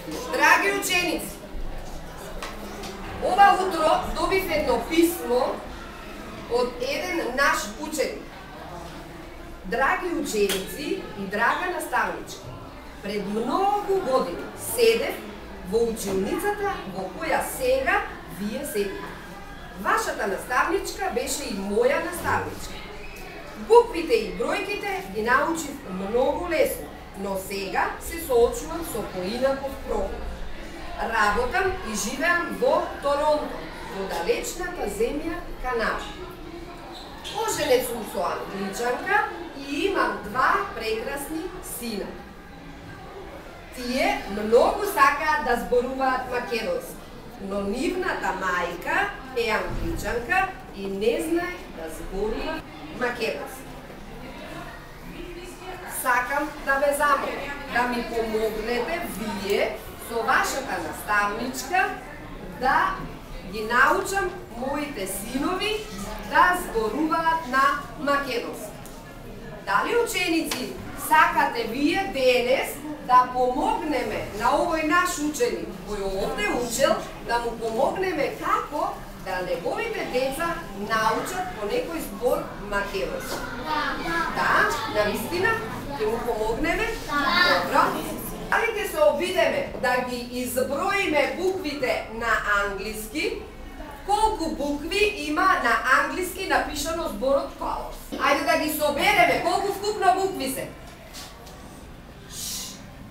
Драги ученици, ова утро добив едно писмо од еден наш ученик. Драги ученици и драга наставничка, пред многу години седев во училницата во која сега вие седите. Вашата наставничка беше и моја наставничка. Буквите и бројките ги научив многу лесно, но сега се соочувам со поинаков проблем. Работам и живеам во Торонто, во далечната земја Канада. Оженет сум со англичанка и имам 2 прекрасни сина. Тие многу сакаат да зборуваат македонски, но нивната мајка е англичанка и не знае да зборува македонски. Сакам да ве замолам да ми помогнете вие со вашата наставничка да ги научам моите синови да зборуваат на македонски. Дали ученици сакате вие денес да помогнеме на овој наш ученик кој овде учел, да му помогнеме како да неговите деца научат по некој збор македонски? Да, навистина ќе му помогнеме? Добро. Дали ќе се обидеме да ги изброиме буквите на англиски? Колку букви има на англиски напишано зборот колос? Ајде да ги собереме, колку вкупно букви се?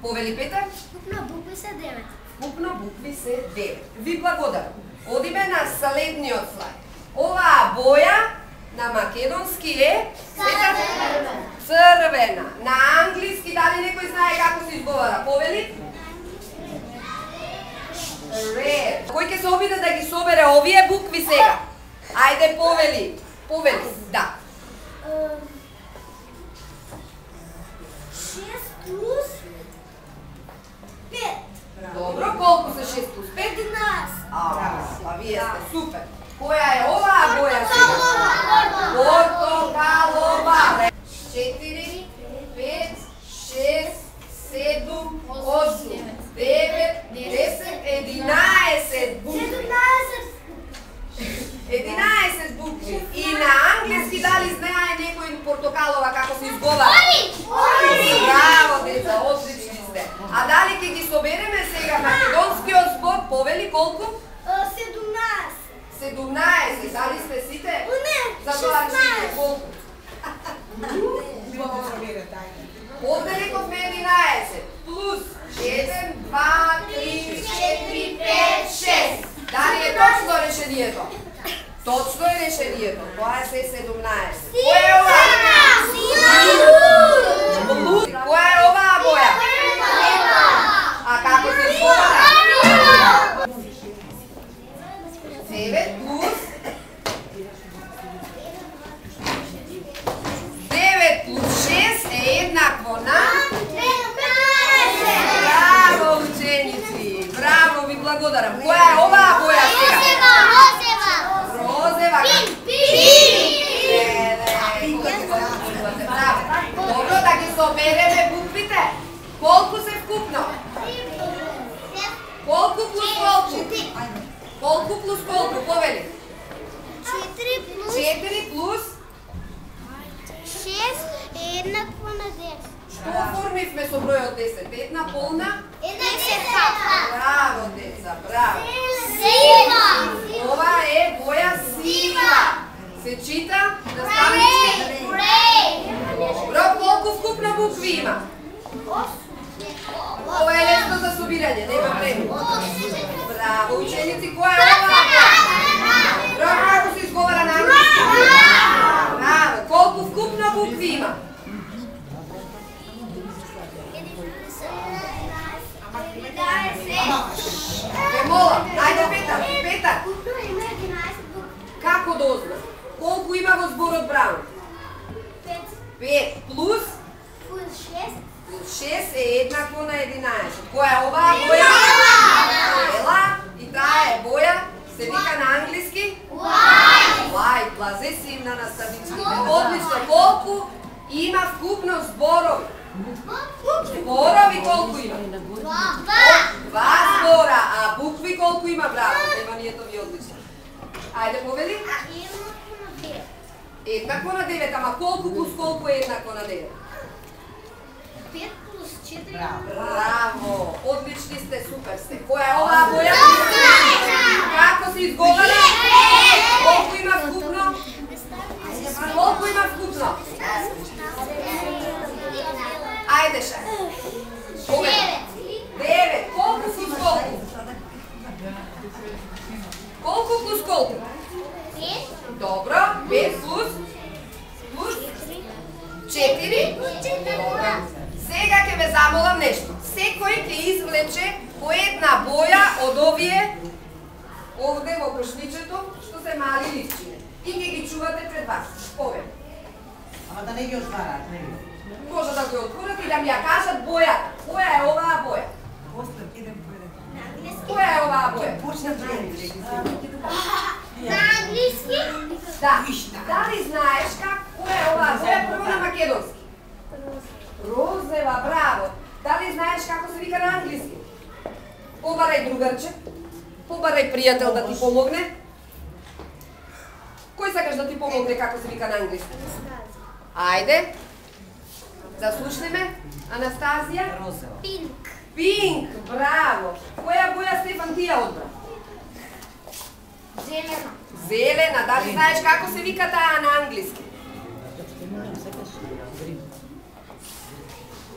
Повели Петар? Вкупно букви се 9. Вкупно букви се 9. Ви благодарам. Одиме на следниот слайд. Оваа боја на македонски е црвена. На англиски дали некој знае како се изговара? Повели? Red. Кој ќе се обиде да ги собере овие букви сега? Ајде повели. Повели. Да. 6 плюс 5. Добро, колку се 6 плюс 5? 11. Па вие сте супер. Која е оваа боја сега? Портокалова. 4, 5, 6, 7, 8, 9, 10, 11 букви. 11 букви. И на англиски дали знае некој портокалова како се изговара? Браво, деца, одлични сте. А дали ќе ги собереме сега македонскиот збор? Повели колку? 17. 17. Дали сте сите? Не, Затоа 16. колку? Овде рековме 11. Плюс 1, 2, 3, 4, 5, 6. Дали е точно решението? Точно е решението. Тоа е се 17. Која е оваа? Која е оваа боја? А како се изговара? 9 плюс 9 плюс 6 е еднакво на 15. Браво, ученици! Браво, ви благодарам. Која е оваа боја сега? Розева. Добро, да ги собереме буквите. Колку се вкупно? Колку плюс колку? Колку плюс колку? Повели. 4 плюс 6 е еднакво на 10. Што оформивме со бројот 10? Една полна? 10. Браво, деца, браво. Сива. Ова е боја сива. Се чита? Наставнички? Добро, колку вкупно букви има? Ова е лесно за собирање, нема време. Браво, ученици, која е ова? Добро, како се изговара на англиски? Браво, колку вкупно букви има? Ве молам, ајде Петар, Петар. Како дозна? Колку има во зборот Браун? 5 плюс 6 е еднакво на 11. Која е оваа боја? Бела. И таа е боја, се вика на англиски? White. Плазесивна наставнички. Одлично. Колку има вкупно зборови? Зборови колку има? 2. Ајде повели. Еднакво на 9, ама колку плюс колку е еднакво на 9? 5 плюс 4. Браво! Одлични сте, супер сте. Која е оваа боја? Како се изговара? Колку има скупно? Колку има скупно? Ајде ша. 9. Колку плюс колку? Колку плюс колку? 5. Добро. 5 плюс 4. Добро. Сега ќе ве замолам нешто. Секој ќе извлече по една боја од овие овде во кошничето, што се мали ливчине. И ќе ги чувате пред вас. Повем. Ама да не ги отварат, не ги. Може да го отворат и да ми ја кажат бојата. Која е оваа боја? Која е оваа боја? На англиски? Да. Дали знаеш која е оваа боја прво на македонски? Розева, браво! Дали знаеш како се вика на англиски? Побарај другарче, побарај пријател да ти помогне. Кој сакаш да ти помогне како се вика на англиски? Ајде, да слушнеме. Анастазија? Розева. Пинк. Пинк, браво! Која боја Стефан ти ја одбра? Зелена. Зелена, дали знаеш како се вика таа на англиски?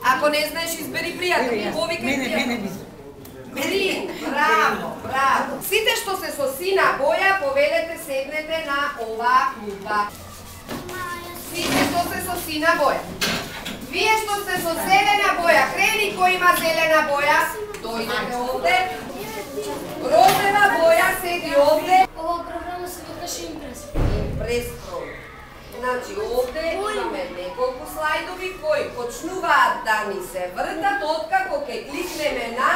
Ако не знаеш, избери пријател. Повикај пријател. Грин, браво, браво. Сите што се со сина боја, повелете седнете на оваа клупа. Сите што се со сина боја. Вие што сте со зелена боја, крени кој има зелена боја, дојдете овде. Розева боја седи овде. Ова програма се викаше Импрес. Импрес програма. Значи, овде имаме неколку слайдови кои почнуваат да ни се вртат откако ќе кликнеме на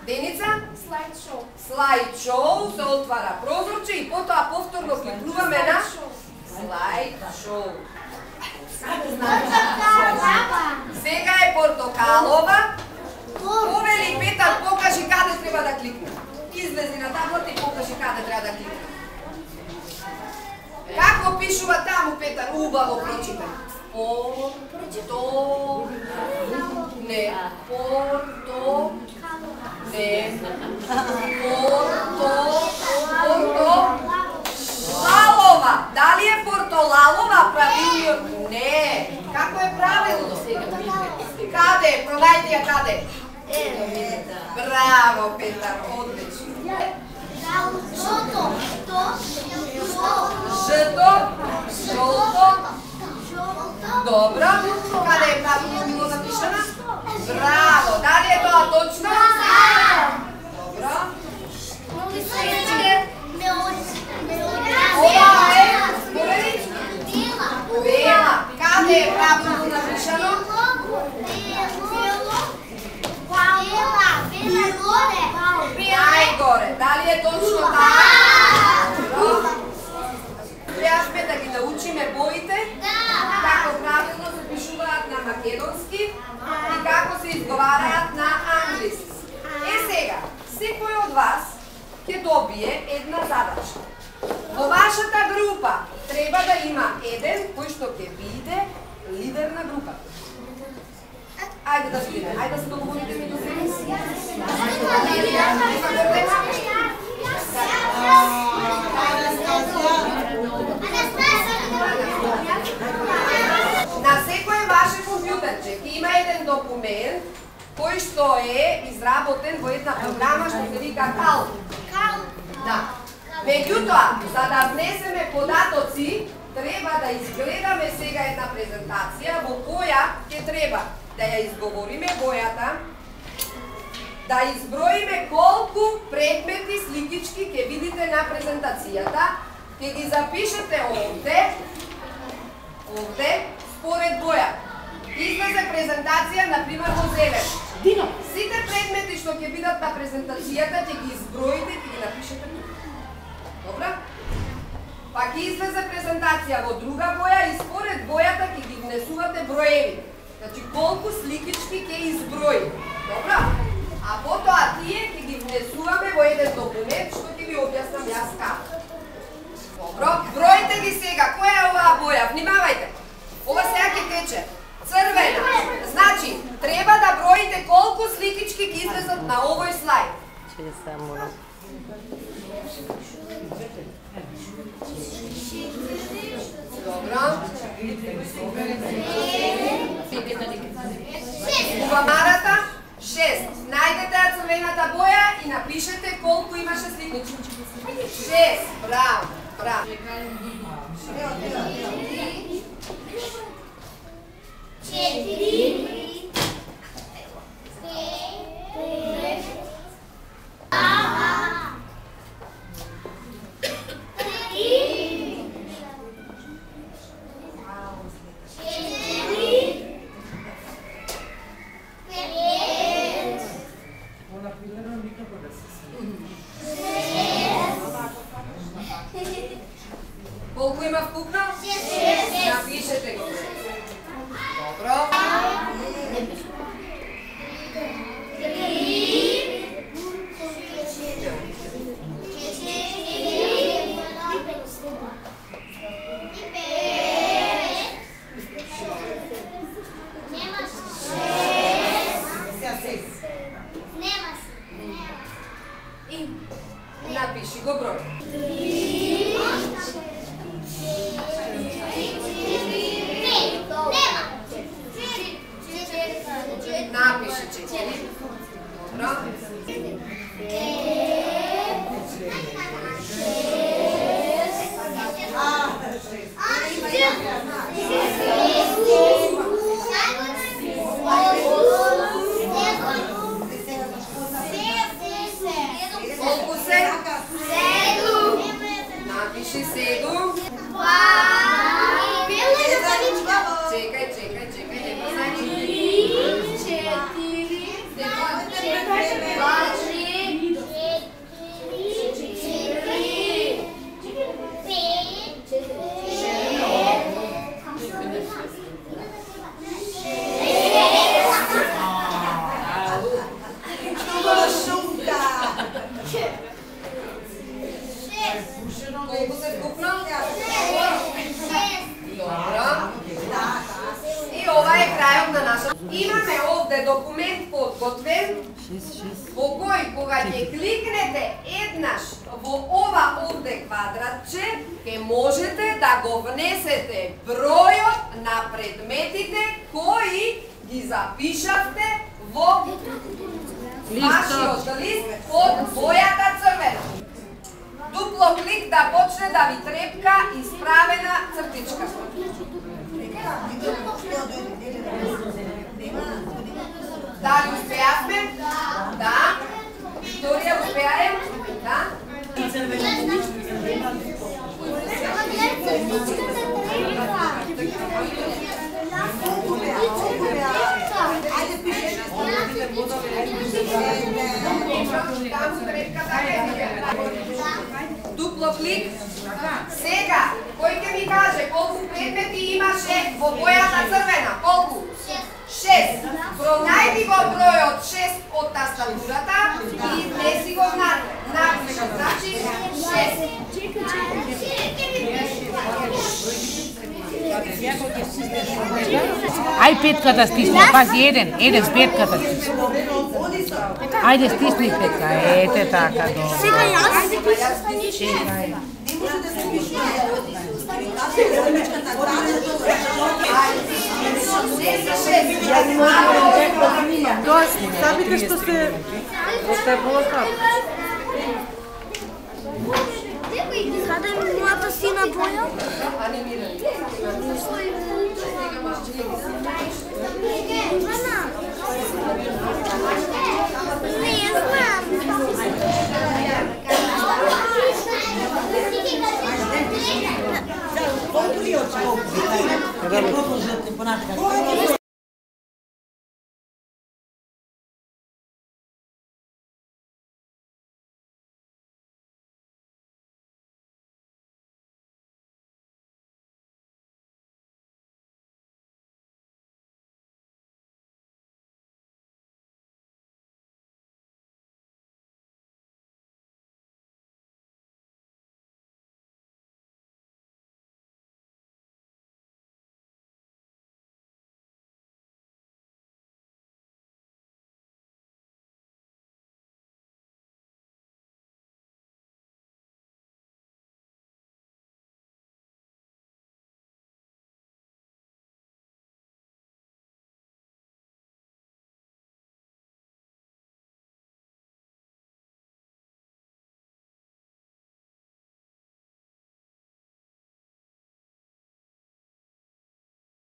Деница? Слайд-шоу. Слайд-шоу, се отвара прозорче и потоа повторно кликнуваме на слайд-шоу. Сега е портокалова. Повели Петар, покажи каде треба да кликне. Излези на таблата и покажи каде треба да кликне. Како пишува таму, Петар? Убаво прочитай. Не. Лалова. Дали е портолалова правилно? Не. Како е правилно? Каде? Пронајди ја каде? Браво, Петар, одлично. Жито, жолто. Добро. Каде е правилно било напишано? Браво. Дали е тоа точно? Добро. Ова е бела. Каде е правилно напишано? Најгоре. Дали е точно така? Добро. Требаме да ги научиме боите, како правилно се пишуваат на македонски и како се изговараат на англиски. Сега, секој од вас ќе добие една задача. Во вашата група треба да има еден кој што ќе биде лидер на групата. Ајде да видиме, ајде да се договорите меѓу себе си. На секој ваше компјутерче ќе има еден документ кој што е изработен во една програма што се вика Calc. Да. Меѓутоа, за да внесеме податоци, треба да изгледаме сега една презентација во која ќе треба да ја изговориме бојата, да изброиме колку предмети сликички ќе видите на презентацијата, ќе ги запишете овде, според боја. Излезе презентација, например, во зелен. Сите предмети што ќе бидат на презентацијата, ќе ги изброите и ќе ги напишете тука. Добра? Па ќе излезе презентација во друга боја и според бојата ќе ги внесувате броеви. Значи, колку сликички ќе изброи. Добра? А потоа тие ќе ги внесуваме во еден документ што ќе ви објаснам јас како. боја, внимавајте. Ова сега ќе тече. Црвена. Значи, треба да броите колку сликички ги излезат на овој слајд. Добро. Кувамарата 6. Најдете ја црвената боја и напишете колку имаше сликички. 6. Браво. Браво. 4 Колку има вкупно? 6. Напишете го. Добро. 3. Напиши го број. 3. Напиши 4. Добро. 7. Чекај, нема значи. 5. Колку се вкупно? 6. Добро. И ова е крајот на нашата. Имаме овде документ подготвен во кој кога ќе кликнете еднаш во ова овде квадратче, ќе можете да го внесете бројот на предметите кои ги запишавте во вашиот лист од бојата црвена. Дупло клик да почне да ви трепка исправена цртичка. Дали успеавме? Да. Викторија, успеаем? Да. Ајде пишеш. Дупло клик. Сега, кој ќе ми каже колку предмети имаше во бојата црвена? Колку? 6. Пронајди го бројот 6 од тастатурата и внеси го напиши. Значи 6. Ај петката стисни, пази еден с петката стисни. Ајде стисни петка, ете така. Сега јас. Тоа сабите што се остапало како. Каде е мојата сина боја? Анимирани.